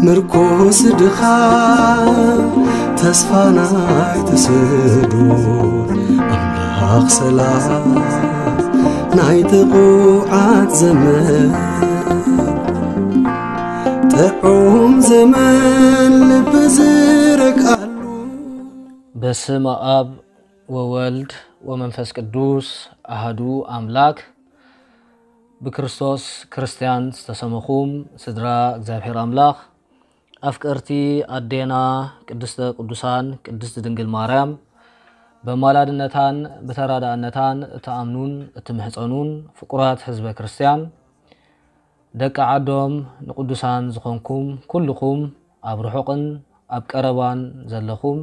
ምርኮስ ድኻ ተስፋ ናይ ተስዶ ኣምላኽ ሰላም ናይ ጥቑዓት ዘመን ጥዑም ዘመን ልቢ ዝረግኣሉ። በስመ ኣብ ወወልድ ወመንፈስ ቅዱስ ኣሃዱ ኣምላክ። ብክርስቶስ ክርስትያን ዝተሰመኹም ስድራ እግዚኣብሔር ኣምላኽ፣ ኣፍቀርቲ ኣዴና ቅድስተ ቅዱሳን ቅድስት ድንግል ማርያም፣ በማላድነታን ብተራዳእነታን እትኣምኑን እትምሕጸኑን ፍቁራት ህዝበ ክርስትያን፣ ደቂ ዓዶም ንቅዱሳን ዝኾንኩም ኩልኹም፣ ኣብ ርሑቕን ኣብ ቀረባን ዘለኹም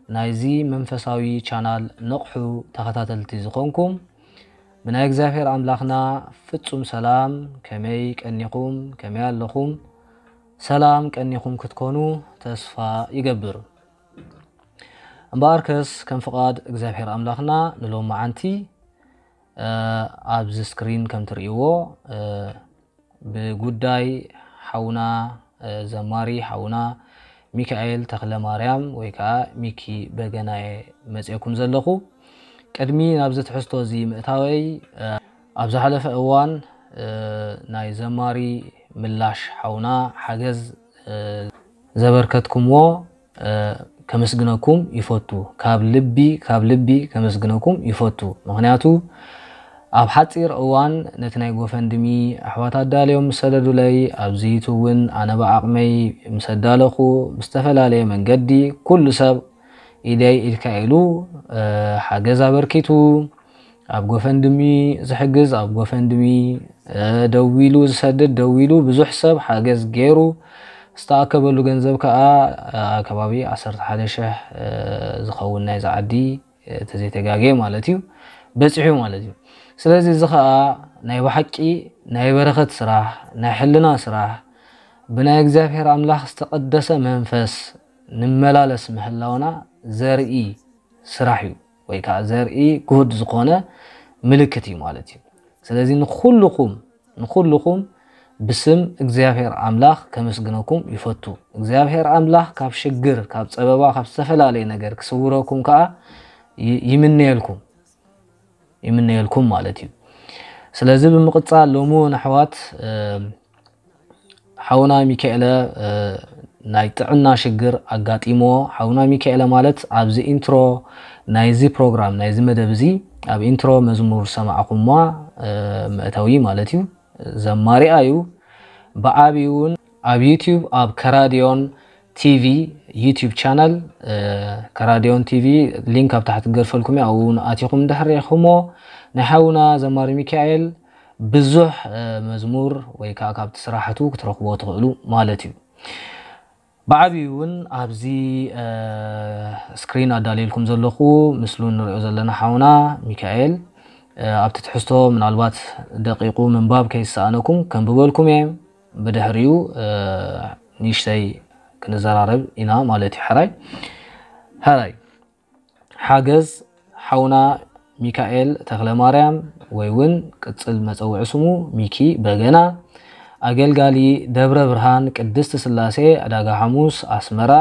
ናይዚ መንፈሳዊ ቻናል ንቕሑ ተኸታተልቲ ዝኾንኩም፣ ብናይ እግዚኣብሔር ኣምላኽና ፍጹም ሰላም ከመይ ቀኒኹም፣ ከመይ ኣለኹም? ሰላም ቀኒኹም ክትኮኑ ተስፋ ይገብር። እምበኣርከስ ከም ፍቓድ እግዚኣብሔር ኣምላኽና ንሎሚ መዓንቲ፣ እ፣ ኣብዚ ስክሪን ከም ትርእይዎ፣ እ፣ ብጉዳይ ሓውና፣ እ፣ ዘማሪ ሓውና ሚካኤል ተኽለ ማርያም ወይ ከዓ ሚኪ በገና እየ መፅኤኩም ዘለኹ። ቅድሚ ናብዚ ትሕዝቶ እዚ ምእታወይ፣ እ፣ ኣብ ዝሓለፈ እዋን፣ እ፣ ናይ ዘማሪ ምላሽ ሓውና ሓገዝ፣ እ፣ ዘበርከትኩምዎ፣ እ፣ ከመስግነኩም ይፈቱ። ካብ ልቢ፣ ካብ ልቢ ከመስግነኩም ይፈቱ። ምኽንያቱ ኣብ ሓፂር እዋን ነቲ ናይ ጎፈንድሚ ኣሕዋት ኣዳልዮም ምስ ሰደዱለይ፣ ኣብዚ ዩቱብ እውን ኣነ ብዓቕመይ ምስ ኣዳለኹ፣ ብዝተፈላለየ መንገዲ ኩሉ ሰብ ኢደይ ኢድካ ኢሉ፣ እ፣ ሓገዝ ኣበርኪቱ። ኣብ ጎፈንድሚ ዝሕግዝ ኣብ ጎፈንድሚ፣ እ፣ ደዊሉ ዝሰድድ ደዊሉ፣ ብዙሕ ሰብ ሓገዝ ገይሩ። ዝተኣከበሉ ገንዘብ ከዓ፣ እ፣ ከባቢ ዓሰርተ ሓደ ሽሕ፣ እ፣ ዝኸውን ናይዛ ዓዲ፣ እ፣ ተዘይተጋግየ ማለት እዩ፣ በፂሑ ማለት እዩ። ስለዚ እዚ ከዓ ናይ ብሓቂ ናይ በረኸት ስራሕ፣ ናይ ሕልና ስራሕ፣ ብናይ እግዚኣብሔር ኣምላኽ ዝተቐደሰ መንፈስ ንመላለስ ምህላውና ዘርኢ ስራሕ እዩ፣ ወይ ከዓ ዘርኢ ግሁድ ዝኾነ ምልክት እዩ ማለት እዩ። ስለዚ ንኹልኹም፣ ንኹልኹም ብስም እግዚኣብሔር ኣምላኽ ከመስግነኩም ይፈቱ። እግዚኣብሔር ኣምላኽ ካብ ሽግር፣ ካብ ጸበባ፣ ካብ ዝተፈላለየ ነገር ክስውረኩም ከዓ ይ-፣ ይምነየልኩም፣ ይምነየልኩም ማለት እዩ። ስለዚ ብምቕጻል ሎሚ እውን ኣሕዋት፣ እ፣ ሓውና ሚካኤለ፣ እ፣ ናይ ጥዕና ሽግር ኣጋጢሞ። ሓውና ሚካኤለ ማለት ኣብዚ ኢንትሮ ናይዚ ፕሮግራም፣ ናይዚ መደብ እዚ፣ ኣብ ኢንትሮ መዝሙር ዝሰማዕኹማ፣ እ፣ መእተዊ ማለት እዩ። ዘማሪኣ እዩ። ብዓብዩ እውን ኣብ ዩቲዩብ፣ ኣብ ከራዲዮን ቲቪ ዩቲዩብ ቻነል፣ እ፣ ከራዲዮን ቲቪ ሊንክ ኣብ ታሕቲ ክገድፈልኩም እየ። ኣብኡ እውን ኣቲኹም እንድሕር ርኢኹሞ፣ ናይ ሓውና ዘማሪ ሚካኤል ብዙሕ፣ እ፣ መዝሙር ወይ ከዓ ካብቲ ስራሕቱ ክትረኽቦ ትኽእሉ ማለት እዩ። ብዓብዩ እውን ኣብዚ፣ እ፣ ስክሪን ኣዳልየልኩም ዘለኹ ምስሉ እንሪኦ ዘለና ሓውና ሚካኤል፣ እ፣ ኣብቲ ትሕዝቶ ምናልባት ደቂቁ ምንባብ ከይሰኣነኩም ከንብበልኩም እየ። ብድሕሪኡ፣ እ፣ ንእሽተይ ክንዘራረብ ኢና ማለት እዩ። ሕራይ፣ ሕራይ። ሓገዝ ሓውና ሚካኤል ተኽለማርያም ወይ እውን ቅጽል መጸውዒ ስሙ ሚኪ በገና፣ ኣገልጋሊ ደብረ ብርሃን ቅድስት ስላሴ ዕዳጋ ሓሙስ ኣስመራ፣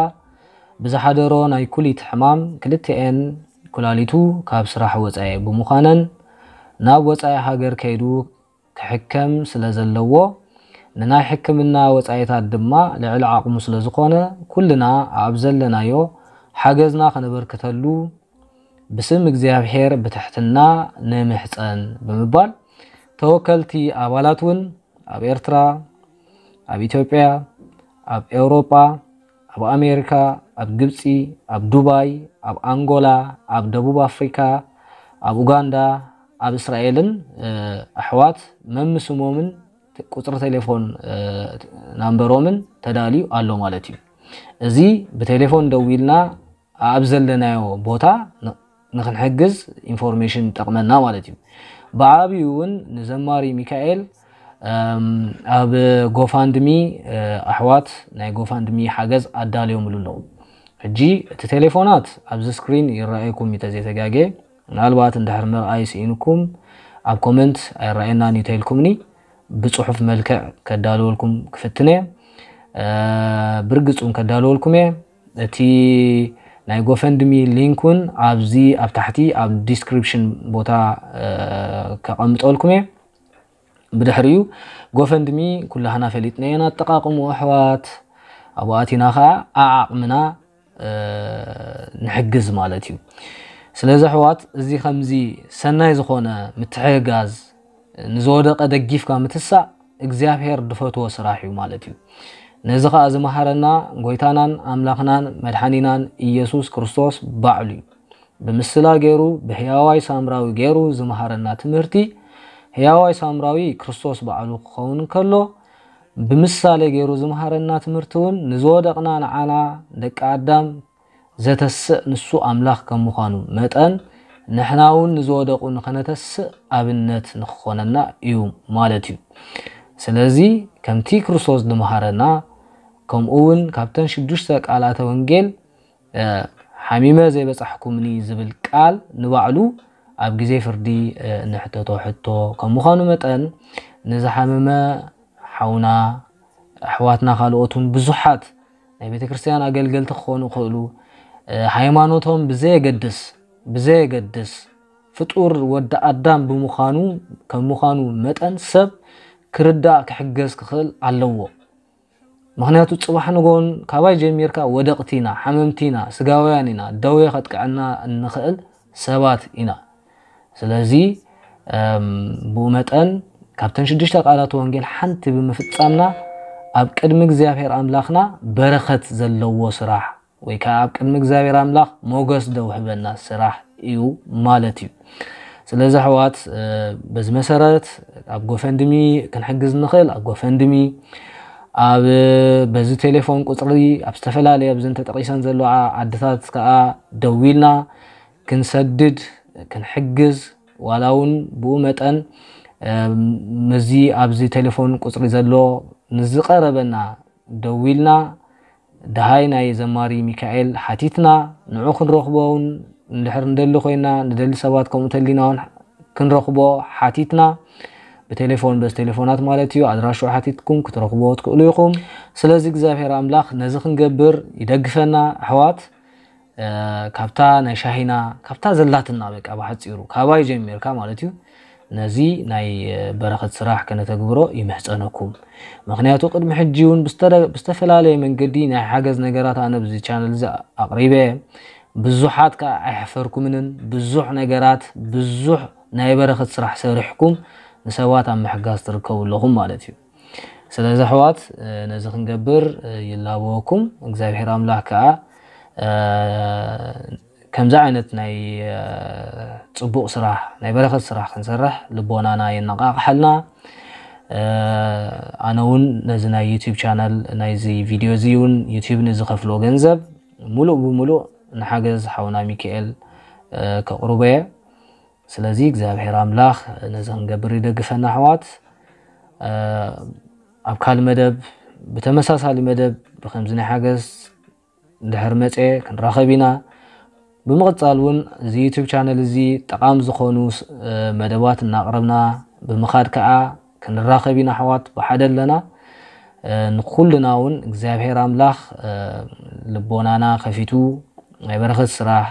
ብዝሓደሮ ናይ ኩሊት ሕማም ክልቲኤን ኩላሊቱ ካብ ስራሕ ወጻኢ ብምዃነን ናብ ወጻኢ ሃገር ከይዱ ክሕከም ስለ ዘለዎ፣ ንናይ ሕክምና ወጻኢታት ድማ ልዕሊ ዓቕሙ ስለ ዝኾነ፣ ኩልና ኣብ ዘለናዮ ሓገዝና ከነበርክተሉ ብስም እግዚኣብሔር ብትሕትና ንምሕጸን ብምባል፣ ተወከልቲ ኣባላት እውን ኣብ ኤርትራ፣ ኣብ ኢትዮጵያ፣ ኣብ ኤውሮጳ፣ ኣብ ኣሜሪካ፣ ኣብ ግብጺ፣ ኣብ ዱባይ፣ ኣብ ኣንጎላ፣ ኣብ ደቡብ ኣፍሪካ፣ ኣብ ኡጋንዳ፣ ኣብ እስራኤልን፣ እ፣ ኣሕዋት መምስሞምን ቁጽሪ ቴሌፎን፣ እ፣ ናምበሮምን ተዳልዩ ኣሎ ማለት እዩ። እዚ ብቴሌፎን ደዊልና ኣብ ዘለናዮ ቦታ ን-፣ ንኽንሕግዝ ኢንፎርሜሽን ይጠቕመና ማለት እዩ። ብዓብዩ እውን ንዘማሪ ሚካኤል፣ እም፣ ኣብ ጎፋንድሚ፣ እ፣ ኣሕዋት ናይ ጎፋንድሚ ሓገዝ ኣዳልዮምሉ ኣለዉ። ሕጂ እቲ ቴሌፎናት ኣብዚ ስክሪን ይረኣየኩም እዩ ተዘይተጋግየ። ምናልባት እንድሕር ምርኣይ ስኢንኩም ኣብ ኮመንት ኣይረኣየናን እዩ ተኢልኩምኒ፣ ብጽሑፍ መልክዕ ከዳልወልኩም ክፍትን እየ። ብርግጽ እውን ከዳልወልኩም እየ። እቲ ናይ ጎፈንድሚ ሊንክ እውን ኣብዚ ኣብ ታሕቲ ኣብ ዲስክሪፕሽን ቦታ ከቐምጠልኩም እየ። ብድሕሪኡ ጎፈንድሚ ኩላህና ፈሊጥናዮ ኣጠቃቅሙ ኣሕዋት ኣብኡ ኣቲና ከዓ ኣዓቕምና ንሕግዝ ማለት እዩ። ስለዚ ኣሕዋት እዚ ከምዚ ሰናይ ዝኾነ ምትሕግጋዝ ንዝወደቀ ደጊፍካ ምትሳእ እግዚኣብሔር ድፈትዎ ስራሕ እዩ ማለት እዩ። ነዚ ከዓ ዝመሃረና ጎይታናን ኣምላኽናን መድሓኒናን ኢየሱስ ክርስቶስ ባዕሉ እዩ። ብምስላ ገይሩ ብሕያዋይ ሳምራዊ ገይሩ ዝመሃረና ትምህርቲ ሕያዋይ ሳምራዊ ክርስቶስ ባዕሉ ክኸውን ከሎ ብምሳሌ ገይሩ ዝመሃረና ትምህርቲ እውን ንዝወደቕና ንዓና ደቂ ኣዳም ዘተስእ ንሱ ኣምላኽ ከም ምዃኑ መጠን ንሕና እውን ንዝወደቑ ንኸነተስእ ኣብነት ንክኾነና እዩ ማለት እዩ። ስለዚ ከምቲ ክርስቶስ ዝመሃረና ከምኡ እውን ካብተን ሽዱሽተ ቃላተ ወንጌል ሓሚመ ዘይበጻሕኩምኒ ዝብል ቃል ንባዕሉ ኣብ ግዜ ፍርዲ ንሕተቶ ሕቶ ከም ምዃኑ መጠን ንዝሓመመ ሓውና ኣሕዋትና ካልኦት እውን ብዙሓት ናይ ቤተ ክርስቲያን ኣገልገልቲ ክኾኑ ይኽእሉ። ሃይማኖቶም ብዘየገድስ ብዘየገድስ ፍጡር ወዲ ኣዳም ብምዃኑ ከም ምዃኑ መጠን ሰብ ክርዳእ ክሕገዝ ክኽእል ኣለዎ። ምኽንያቱ ጽባሕ ንጎን ካባይ ጀሚርካ ወደቕቲ ኢና፣ ሓመምቲ ኢና፣ ስጋውያን ኢና፣ ደዌ ከጥቅዐና እንኽእል ሰባት ኢና። ስለዚ ብኡ መጠን ካብተን ሽዱሽተ ቃላት ወንጌል ሓንቲ ብምፍጻምና ኣብ ቅድሚ እግዚኣብሔር ኣምላኽና በረኸት ዘለዎ ስራሕ ወይ ከዓ ኣብ ቅድሚ እግዚኣብሔር ኣምላኽ ሞገስ ደውህበና ስራሕ እዩ ማለት እዩ። ስለዚ ኣሕዋት በዚ መሰረት ኣብ ጎፈንድሚ ክንሕግዝ ንኽእል ኣብ ጎፈንድሚ ኣብ በዚ ቴሌፎን ቁፅሪ ኣብ ዝተፈላለየ ኣብዘን ተጠቂሰን ዘለዋ ዓድታት ከዓ ደዊልና ክንሰድድ ክንሕግዝ ዋላ እውን ብኡ መጠን ምዚ ኣብዚ ቴሌፎን ቁፅሪ ዘሎ ንዝቀረበና ደዊልና ደሃይ ናይ ዘማሪ ሚካኤል ሓቲትና ንዑ ክንረኽቦ እውን እንድሕር ንደሊ ኮይና ንደሊ ሰባት ከምኡ ተሊና እውን ክንረኽቦ ሓቲትና ብቴሌፎን በዚ ቴሌፎናት ማለት እዩ ኣድራሽኡ ሓቲትኩም ክትረኽብዎ ትክእሉ ኢኹም። ስለዚ እግዚኣብሔር ኣምላኽ ነዚ ክንገብር ይደግፈና ኣሕዋት። ካብታ ናይ ሻሂና ካብታ ዘላትና በቃ ብሓፂሩ ካባይ ጀሚርካ ማለት እዩ ነዚ ናይ በረኸት ስራሕ ከነተግብሮ ይምሕፀነኩም። ምክንያቱ ቅድሚ ሕጂ እውን ብዝተፈላለየ መንገዲ ናይ ሓገዝ ነገራት ኣነ ብዚ ቻነል እዚ ኣቕሪበ ብዙሓት ከዓ ኣይሕፈርኩምንን ብዙሕ ነገራት ብዙሕ ናይ በረኸት ስራሕ ሰሪሕኩም ንሰባት ኣብ ምሕጋዝ ትርከቡ ኣለኹም ማለት እዩ። ስለዚ ኣሕዋት ነዚ ክንገብር ይላበወኩም እግዚኣብሔር ኣምላኽ ከዓ ከምዚ ዓይነት ናይ ፅቡቕ ስራሕ ናይ በረኸት ስራሕ ክንሰርሕ ልቦናና የነቃቕሓልና። ኣነ እውን ነዚ ናይ ዩቲብ ቻነል ናይዚ ቪድዮ እዚ እውን ዩቲብ ንዝኸፍሎ ገንዘብ ሙሉእ ብሙሉእ ንሓገዝ ሓውና ሚካኤል ከቕርቦ እየ። ስለዚ እግዚኣብሔር ኣምላኽ ነዚ ክንገብር ይደግፈና ኣሕዋት። ኣብ ካልእ መደብ ብተመሳሳሊ መደብ ብከምዚ ናይ ሓገዝ እንድሕር መፀ ክንራኸብ ኢና። ብምቕፃል እውን እዚ ዩቱብ ቻነል እዚ ጠቓሚ ዝኾኑ መደባት እናቕረብና ብምኻድ ከዓ ክንራኸብ ኢና ኣሕዋት ብሓደ ኣለና። ንኩልና እውን እግዚኣብሔር ኣምላኽ ልቦናና ከፊቱ ናይ በረኸት ስራሕ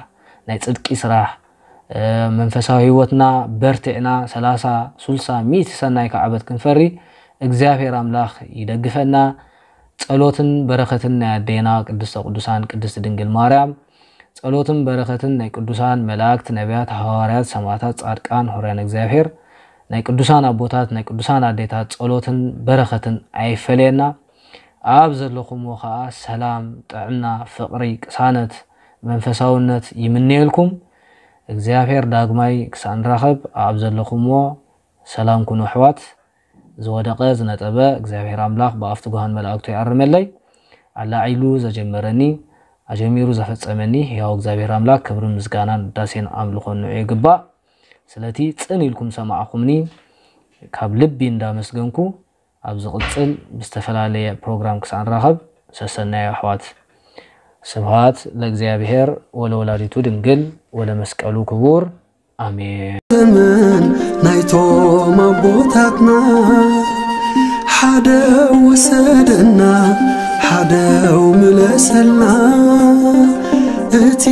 ናይ ፅድቂ ስራሕ መንፈሳዊ ህይወትና በርቲዕና ሰላሳ ሱልሳ ሚእቲ ሰናይ ከዓበት ክንፈሪ እግዚኣብሔር ኣምላኽ ይደግፈና። ጸሎትን በረኸትን ናይ ኣዴና ቅድስተ ቅዱሳን ቅድስት ድንግል ማርያም ጸሎትን በረኸትን ናይ ቅዱሳን መላእክት ነቢያት ሃዋርያት ሰማዕታት ጻድቃን ሆርያን እግዚኣብሔር ናይ ቅዱሳን ኣቦታት ናይ ቅዱሳን ኣዴታት ጸሎትን በረኸትን ኣይፈለየና። ኣብ ዘለኹምዎ ኸኣ ሰላም ጥዕና ፍቕሪ ቅሳነት መንፈሳውነት ይምነየልኩም። እግዚኣብሔር ዳግማይ ክሳብ ንራኸብ ኣብ ዘለኹምዎ ሰላም ኩኑ ኣሕዋት። ዝወደቐ ዝነጠበ እግዚኣብሔር ኣምላኽ ብኣፍ ትጉሃን መላእክቱ ይኣርመለይ። ኣላዒሉ ዘጀመረኒ ኣጀሚሩ ዘፈጸመኒ ሕያው እግዚኣብሔር ኣምላኽ ክብርን ምስጋናን ውዳሴን ኣምልኾን ንዑ ይግባእ። ስለቲ ጽን ኢልኩም ሰማዕኹምኒ ካብ ልቢ እንዳመስገንኩ ኣብ ዝቕጽል ብዝተፈላለየ ፕሮግራም ክሳብ ንራኸብ ሰሰናዩ ኣሕዋት። ስብሃት ለእግዚኣብሔር ወለወላዲቱ ድንግል ወለመስቀሉ ክቡር። ኣሜን። ዘመን ናይቶም ኣቦታትና ሓደ ወሰደና ደው ምለሰልና እቲ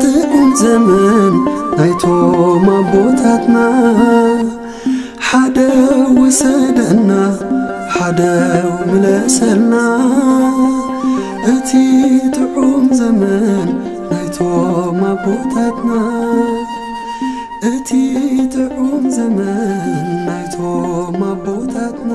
ጥዑም ዘመን ናይቶም ኣቦታትና። ሓደ ውሰደና፣ ሓደ ምለሰልና እቲ ጥዑም ዘመን ናይቶም ኣቦታትና። እቲ ጥዑም ዘመን ናይቶም ኣቦታትና።